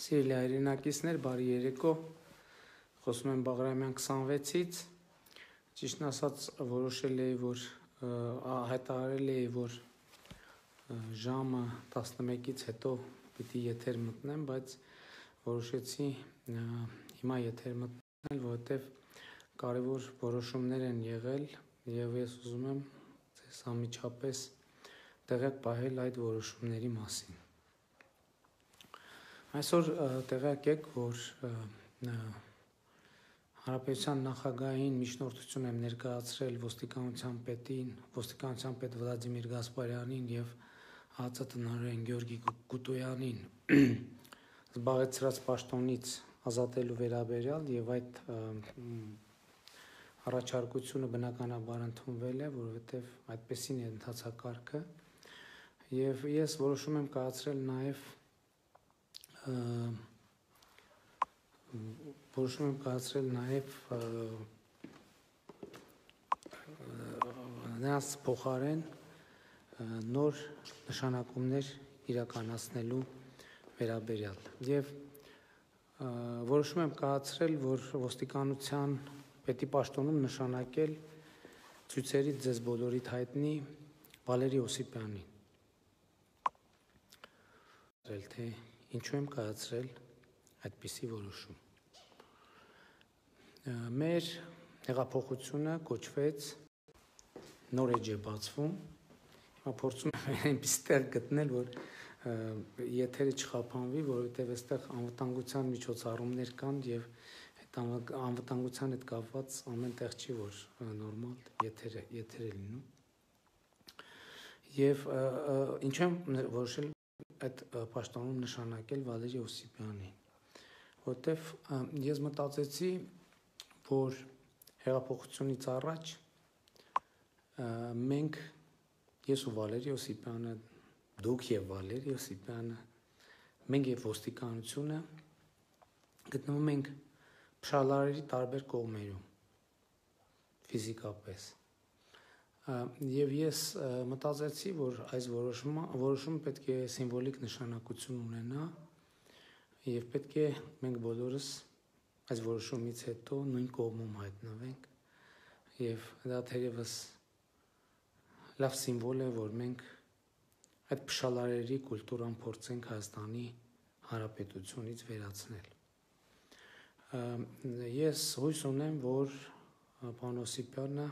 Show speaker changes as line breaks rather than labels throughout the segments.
Սիրելի հայրենակիցներ, բարի երեկո, խոսում եմ Բաղրամյան 26-ից, ճիշտն ասած որոշել էի, որ հայտարարել էի, որ ժամը 11-ից հետո պիտի եթեր մտնեմ, բայց որոշեցի հիմա եթեր մտնել, որովհետև կարևոր որոշումներ են եղել և ես ուզում եմ ձեզ անմիջապես տեղյակ պահել այդ որոշումների մասին։ Այսօր տեղյակ եք, որ Հանրապետության նախագահին միջնորդություն եմ ներկայացրել ոստիկանության պետ Վլադիմիր Գասպարյանին և ՀԱԾ տնօրեն Գյորգի Կուտոյանին զբաղեցրած պաշտոնից ազատելու վերաբերյալ և այդ առաջարկությունը բնականաբար ընդունվել է, որովհետև այդպեսին է ընթացակարգը և ես որոշում եմ կայացրել նաև նրանց փոխարեն նոր նշանակումներ իրականացնելու վերաբերյալ և որոշում եմ կայացրել, որ ոստիկանության պետի պաշտոնում նշանակել ցույցերից ձեզ բոլորիդ հայտնի Վալերի Օսիպյանին։ Թե ինչու եմ կայացրել այդպիսի որոշում։ Մեր հեղափոխությունը կոչվեց նոր էջ է բացվում, հիմա փորձում եմ այնպիսի տեղ գտնել, որ եթերը չխափանվի, որովհետև այստեղ անվտանգության միջոցառումներ կան և այդ անվտանգության հետ կապված ամեն տեղ չի, որ նորմալ եթեր է լինում։ Եվ ինչու եմ որոշել այդ պաշտոնում նշանակել Վալերի Օսիպյանին, որտեվ ես մտածեցի, որ հեղափոխությունից առաջ մենք, ես ու Վալերի Օսիպյանը, դուք և Վալերի Օսիպյանը, մենք և ոստիկանությունը գտնվում ենք փշալարերի տարբեր կողմերում, ֆիզիկապես, և ես մտածեցի, որ այս որոշումը պետք է սիմվոլիկ նշանակություն ունենա և պետք է մենք բոլորս այս որոշումից հետո նույն կողմում հայտնվենք և դա թերևս լավ սիմվոլ է, որ մենք այդ փշալարերի կուլտուրան փորձենք Հայաստանի Հանրապետությունից վերացնել։ Ես հույս ունեմ, որ պարոն Օսիպյանը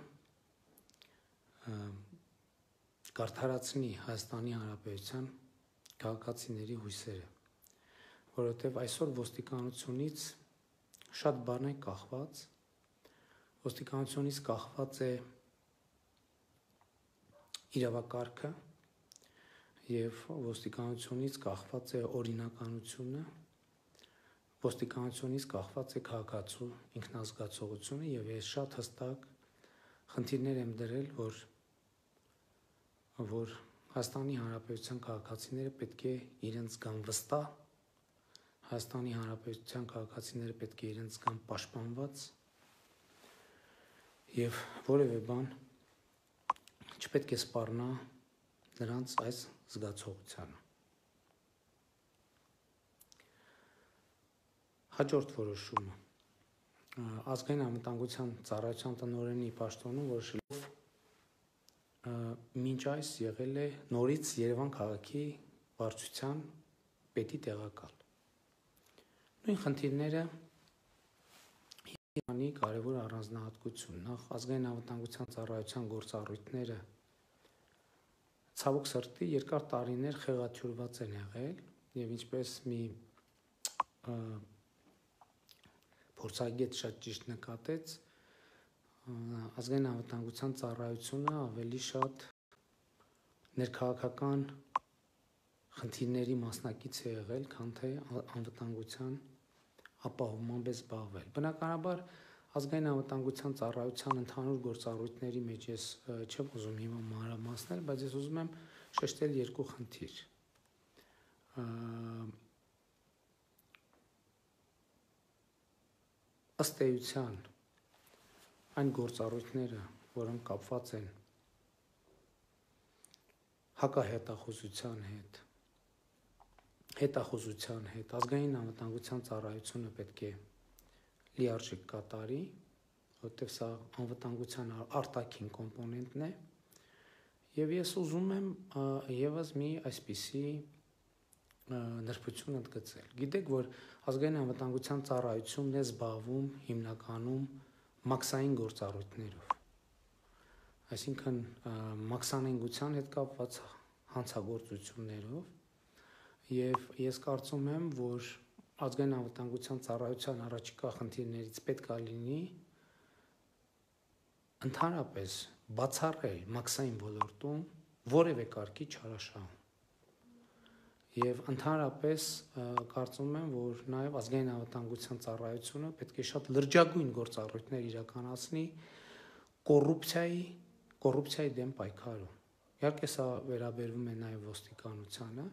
կարդարացնի Հայաստանի Հանրապետության քաղաքացիների հույսերը, որովհետև այսօր ոստիկանությունից շատ բան է կախված, ոստիկանությունից կախված է իրավակարգը և ոստիկանությունից կախված է օրինականությունը, ոստիկանությունից կախված է քաղաքացու ինքնազգացողությունը և ես շատ հստակ խնդիրներ եմ դրել, որ Հայաստանի Հանրապետության քաղաքացիները պետք է իրենց զգան վստահ, Հայաստանի Հանրապետության քաղաքացիները պետք է իրենց զգան պաշտպանված և որևէ բան չպետք է սպառնա նրանց այս զգացողությանը։ Հաջորդ որոշումը Ազգային անվտանգության ծառայության տնօրենի պաշտոնում որոշելով մինչ այս եղել է նորից Երևան քաղաքի վարչության պետի տեղակալ։ Նույն խնդիրները Երևանի կարևոր առանձնահատկություն, նախ ազգային անվտանգության ծառայության գործառույթները ցավոք սրտի երկար տարիներ խեղաթյուրված են եղել և ինչպես մի փորձագետ շատ ճիշտ նկատեց, ազգային անվտանգության ծառայությունը ավելի շատ ներքաղաքական խնդիրների մասնակից է եղել, քան թե անվտանգության ապահովմամբ է զբաղվել։ Բնականաբար ազգային անվտանգության ծառայության ընդհանուր գործառույթների մեջ ես չեմ ուզում հիմա մանրամասնել, բայց ես ուզում եմ շեշտել երկու խնդիր։ Ըստ էության այն գործառույթները, որոնք կապված են հակահետախուզության հետ, հետախուզության հետ ազգային անվտանգության ծառայությունը պետք է լիարժեք կատարի, որտեղ սա անվտանգության արտաքին կոմպոնենտն է, եւ ես ուզում եմ եւս մի այսպիսի նրբություն ընդգծել։ Գիտեք, որ ազգային անվտանգության ծառայությունն է զբաղվում հիմնականում մաքսային գործառույթներով, այսինքն մաքսանենգության հետ կապված հանցագործություններով, եւ ես կարծում եմ, որ ազգային անվտանգության ծառայության առաջիկա խնդիրներից պետք է լինի ընդհանրապես բացառել մաքսային ոլորտում որևէ կարգի չարաշահում։ Եվ ընդհանրապես կարծում եմ, որ նաև ազգային անվտանգության ծառայությունը պետք է շատ լրջագույն գործառույթներ իրականացնի կոռուպցիայի դեմ պայքարում։ Իհարկե սա վերաբերվում է նաև ոստիկանությանը,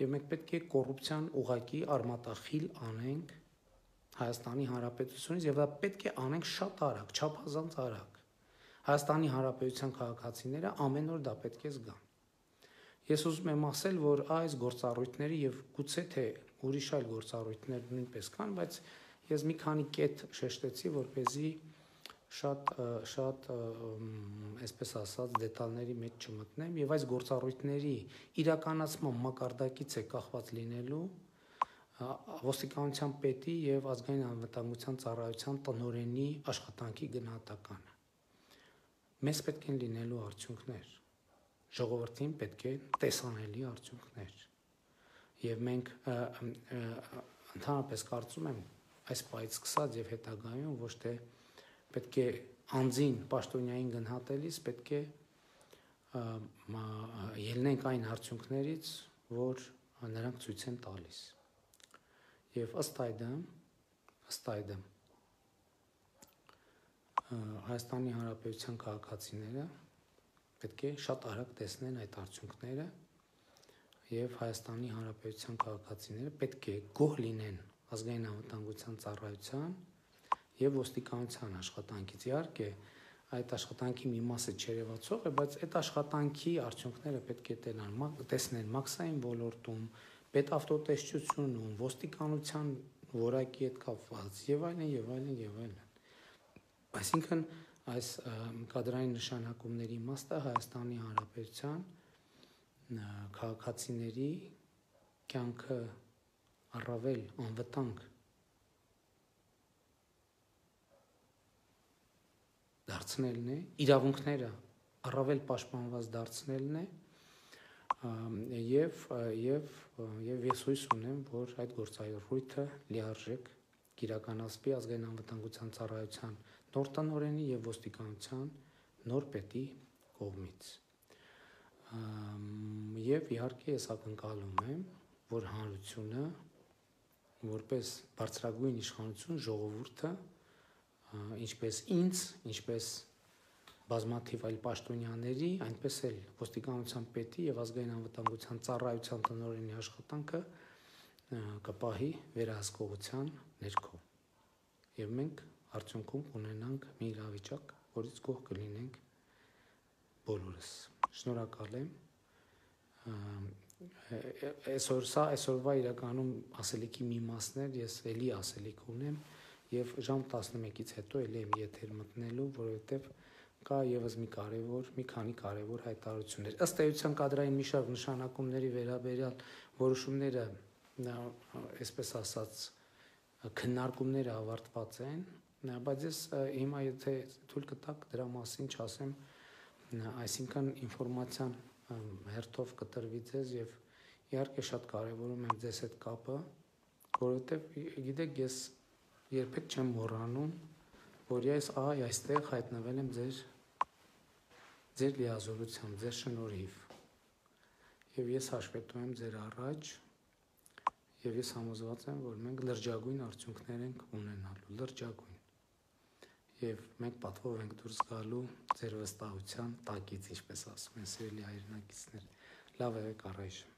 եւ մենք պետք է կոռուպցիան ուղղակի արմատախիլ անենք Հայաստանի Հանրապետությունից, եւ դա պետք է անենք շատ արագ, չափազանց արագ։ Հայաստանի Հանրապետության քաղաքացիները ամեն օր դա պետք է զգան։ Ես ուզում եմ ասել, որ այս գործառույթների եւ գուցե թե ուրիշ այլ գործառույթներ նույնպես կան, բայց ես մի քանի կետ շեշտեցի, որպեսզի շատ այսպես ասած դետալների մեջ չմտնեմ եւ այս գործառույթների իրականացման մակարդակից է կախված լինելու ոստիկանության պետի եւ ազգային անվտանգության ծառայության տնօրենի աշխատանքի գնահատականը։ Մեզ պետք են լինելու արդյունքներ, ժողովրդին պետք է տեսանելի արդյունքներ, եւ մենք ընդհանրապես կարծում եմ այս պահից սկսած եւ հետագայում ոչ թե պետք է անձին պաշտոնյային գնահատելիս պետք է ելնենք այն արդյունքներից, որ նրանք ցույց են տալիս, եւ ըստ այդմ Հայաստանի Հանրապետության քաղաքացիները պետք է շատ արագ տեսնեն այդ արդյունքները եւ Հայաստանի Հանրապետության քաղաքացիները պետք է գոհ լինեն ազգային անվտանգության ծառայության եւ ոստիկանության աշխատանքից։ Իհարկե, այդ աշխատանքի մի մասը չերևացող է, բայց այդ աշխատանքի արդյունքները պետք է տեսնեն մաքսային ոլորտում, պետավտոտեսչությունում, ոստիկանության որակի հետ կապված եւ այլն։ Այսինքն այս կադրային նշանակումների իմաստը Հայաստանի Հանրապետության քաղաքացիների կյանքը առավել անվտանգ դարձնելն է, իրավունքները առավել պաշտպանված դարձնելն է, եւ ես հույս ունեմ, որ այդ գործառույթը լիարժեք կիրականացվի ազգային անվտանգության ծառայության նոր տնօրենի եւ ոստիկանության նոր պետի կողմից։ Եվ իհարկե ես ակնկալում եմ, որ հանրությունը որպես բարձրագույն իշխանություն ժողովուրդը ինչպես ինձ, ինչպես բազմաթիվ այլ պաշտոնյաների, այնպես էլ ոստիկանության պետի եւ ազգային անվտանգության ծառայության տնօրենի աշխատանքը կպահի վերահսկողության ներքո։ Եվ մենք արդյունքում ունենանք մի իրավիճակ, որից գոհ կլինենք բոլորս։ Շնորհակալ եմ։ Այսօրվա իրականում ասելիքի մի մասներ ես էլի ասելիք ունեմ եւ ժամ 11-ից հետո էլի եմ եթեր մտնելու, որովհետեւ կա եւս մի քանի կարևոր հայտարարություններ։ Ըստ էության կադրային մի շարք նշանակումների վերաբերյալ որոշումները, այսպես ասած, քննարկումները ավարտված են, բայց ես հիմա եթե թույլ կտաք դրա մասին չասեմ, այսինքն ինֆորմացիան հերթով կտրվի ձեզ եւ իհարկե շատ կարեւորում եմ ձեզ այդ կապը, որովհետեւ գիտեք ես երբեք չեմ մոռանում, որ ես այստեղ հայտնվել եմ ձեր լիազորությամբ, ձեր շնորհիվ եւ ես հաշվետու եմ ձեր առաջ եւ ես համոզված եմ, որ մենք լրջագույն արդյունքներ ենք ունենալու, լրջագույն եւ մենք պատվով ենք դուրս գալու ձեր վստահության տակից, ինչպես ասում են սիրելի հայրենակիցներ։ Լավ եղեք առայժմ։